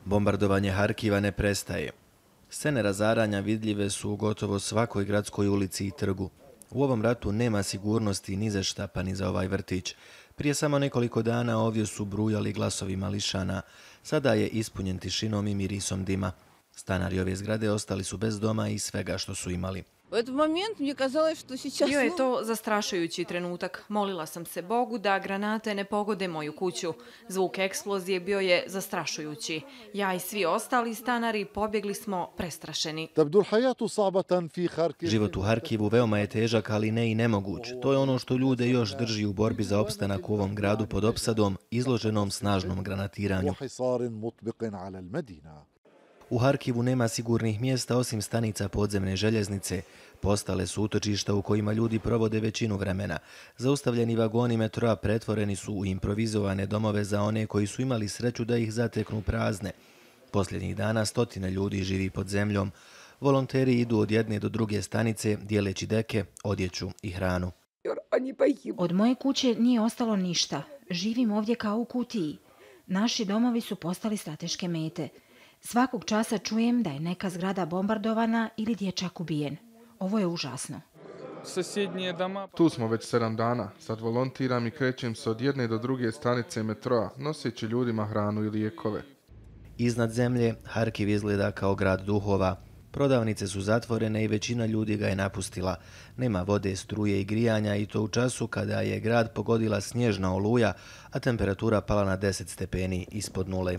Bombardovanje Harkiva ne prestaje. Scene razaranja vidljive su u gotovo svakoj gradskoj ulici i trgu. U ovom ratu nema sigurnosti ni za šta, pa ni za ovaj vrtić. Prije samo nekoliko dana ovdje su brujali glasovi mališana. Sada je ispunjen tišinom i mirisom dima. Stanari ove zgrade ostali su bez doma i svega što su imali. Bio je to zastrašujući trenutak. Molila sam se Bogu da granate ne pogode moju kuću. Zvuk eksplozije bio je zastrašujući. Ja i svi ostali stanari pobjegli smo prestrašeni. Život u Harkivu veoma je težak, ali ne i nemoguć. To je ono što ljude još drži u borbi za opstanak u ovom gradu pod opsadom, izloženom snažnom granatiranju. U Harkivu nema sigurnih mjesta osim stanica podzemne željeznice. Postale su utočišta u kojima ljudi provode većinu vremena. Zaustavljeni vagoni metroa pretvoreni su u improvizovane domove za one koji su imali sreću da ih zateknu prazne. Posljednjih dana stotine ljudi živi pod zemljom. Volonteri idu od jedne do druge stanice, dijeleći deke, odjeću i hranu. Od moje kuće nije ostalo ništa. Živim ovdje kao u kutiji. Naši domovi su postali strateške mete. Svakog časa čujem da je neka zgrada bombardovana ili dječak ubijen. Ovo je užasno. Tu smo već 7 dana. Sad volontiram i krećem se od jedne do druge stanice metroa, noseći ljudima hranu i lijekove. Iznad zemlje Harkiv izgleda kao grad duhova. Prodavnice su zatvorene i većina ljudi ga je napustila. Nema vode, struje i grijanja i to u času kada je grad pogodila snježna oluja, a temperatura pala na 10 stepeni ispod nule.